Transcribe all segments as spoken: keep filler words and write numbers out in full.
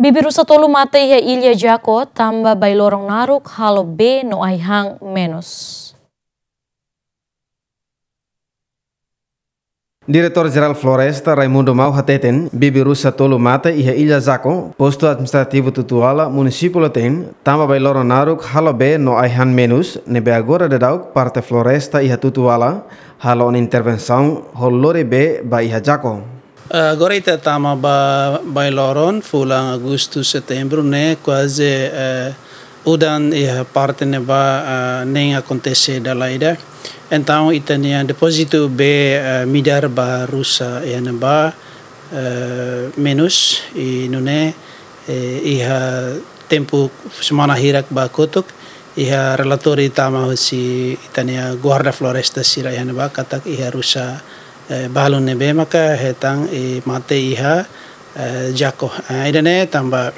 Bibi-rusa tolu mate iha Ilha Jaco, tanba bailoron naruk halo bee no ai-han menus. Diretór Jerál Floresta, Raimundo Mau hateten, bibi-rusa tolu mate iha Ilha Jaco, postu administrativu Tutuala, munisípiu Leten, tanba bailoron naruk halo bee no ai-han menus, ne'ebé agora daudauk parte floresta iha Tutuala halo ona intervensaun hodi lori bee ba iha Jaco. Agora ita tama ba bailoron, fulan Agostu, Setembru ne'e kuaze, eh, udan iha parte ne'ebá, eh, nein akontese dala ida. Entaun ita-nia depózitu bee, eh, midar ba rusa iha ne'ebá, eh, menus, i nune'e, eh, iha tempu semana hirak ba kotuk, iha relatóriu tama husi ita-nia guarda floresta sira iha ne'ebá katak iha rusa, eh, balu ne'ebé maka hetan, eh, mate iha, eh, Jaco. Ah, ida-ne'e tanba,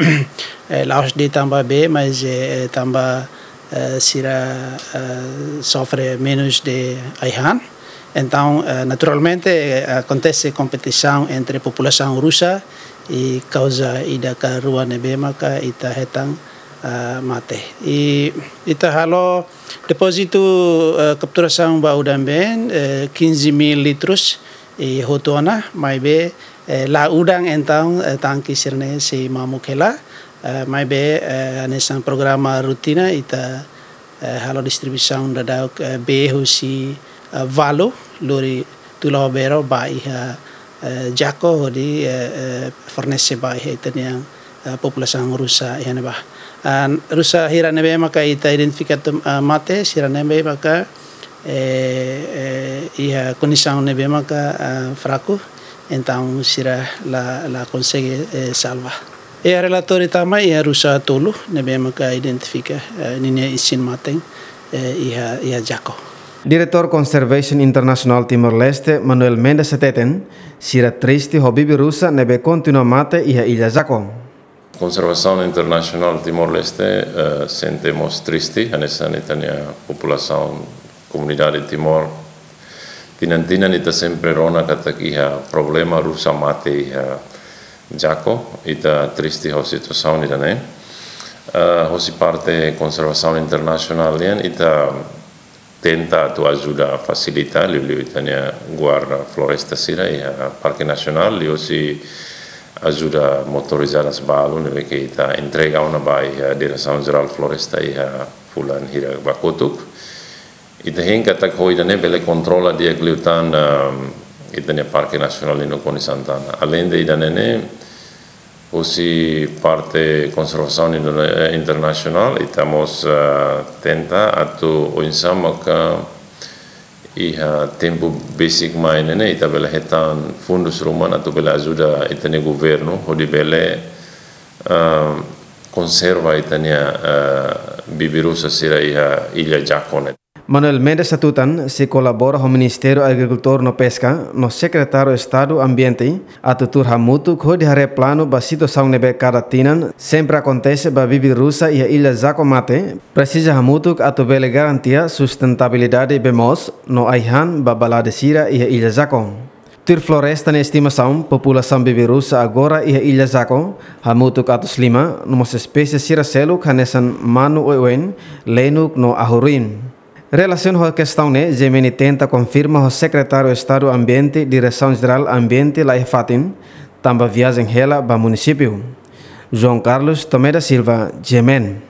eh, la'ós de'it tanba bee, mas, eh, tanba, eh, sira, eh, sofre menus de ai-han. Entaun, eh, naturalmente, eh, akontese kompetisaun entre populasaun rusa i kauza ida ka rua ne'ebé maka ita hetan, eh, mate. I ita halo depózitu, eh, kapturasaun ba udan-been, eh, quinze mil litros, i hotu ona, maibé, eh, la udan entaun, eh, tanke sira-ne'e sei mamuk hela, eh, maibé, eh, hanesan programa rutina ita, eh, halo distribuisaun daudauk, eh, bee husi, eh, Valu, lori Tula Obero ba iha, eh, Jaco hodi, eh, eh, fornese ba iha ita-nia, eh, populasaun rusa iha ne'ebá. Ah, rusa hira ne'ebé maka ita identifika atu, ah, mate, sira ne'ebé maka, eh, eh, iha kondisaun ne'ebé maka, ah, fraku, entaun sira la, la konsege, eh, salva. Iha relatóriu tama iha rusa tolu ne'ebé maka identifika, eh, ninia isin-mate, eh, iha, iha Jaco. Diretór Conservation International Timor-Leste, Manuel Mendes hateten, sira triste ho bibi-rusa ne'ebé kontinua mate iha Ilha Jaco. Konservasaun Internasionál Timor-Leste, eh, sente mós triste, hanesan ita-nia populasaun, komunidade Timor. Tinan-tinan ita sempre rona katak iha problema rusa mate iha Jaco, ita triste ho situasaun ida-ne'e. Eh, hosi parte konservasaun internasionál nian ita tenta atu ajuda fasilita, liuliu ita-nia guarda floresta sira iha Parke Nasionál, liuhosi ajuda motorizadas balu ne'ebé ke ita entrega ona ba iha Diresaun Jerál Floresta iha fulan hirak ba kotuk. Ita hein katak ho ida-ne'e bele kontrola di'ak liután, ehm, ita-nia Parke Nasionál nia kondisaun tan. Aleinde ida-ne'e ne'e, husi parte konservasaun indo-, eh, internasionál, ita mós, eh, tenta atu oinsá maka iha tempu besik mai ne'e ne'e, ita bele hetan fundus ruma atu bele ajuda ita-nia governu, hodi bele, eh, konserva ita-nia, eh, bibi-rusa sira iha Ilha Jaco ne'e. Manuel Mendes hatutan, sei kolabora ho Ministériu Agrikultura no Peska, no Sekretáriu Estadu Ambiente, atu tuur hamutuk hodi haree planu ba situasaun ne'ebé kada tinan sempre akontese ba bibi-rusa iha Ilha Jaco mate, presiza hamutuk atu bele garantia sustentabilidade bee moos no ai-han ba balade sira iha Ilha Jaco. Tuir floresta nia estimasaun, populasaun bibi-rusa agora iha Ilha Jaco hamutuk atus lima, no mós espésie sira seluk hanesan manu oioin, lenuk no ahu-ruin. Relasiona ho kestaun ne'e, G M N tenta konfirma ho Sekretáriu Estadu Ambiente, Diresaun Jerál Ambiente la iha fatin, tanba viajen hela ba munisípiu. João Carlos Tomé da Silva, G M N.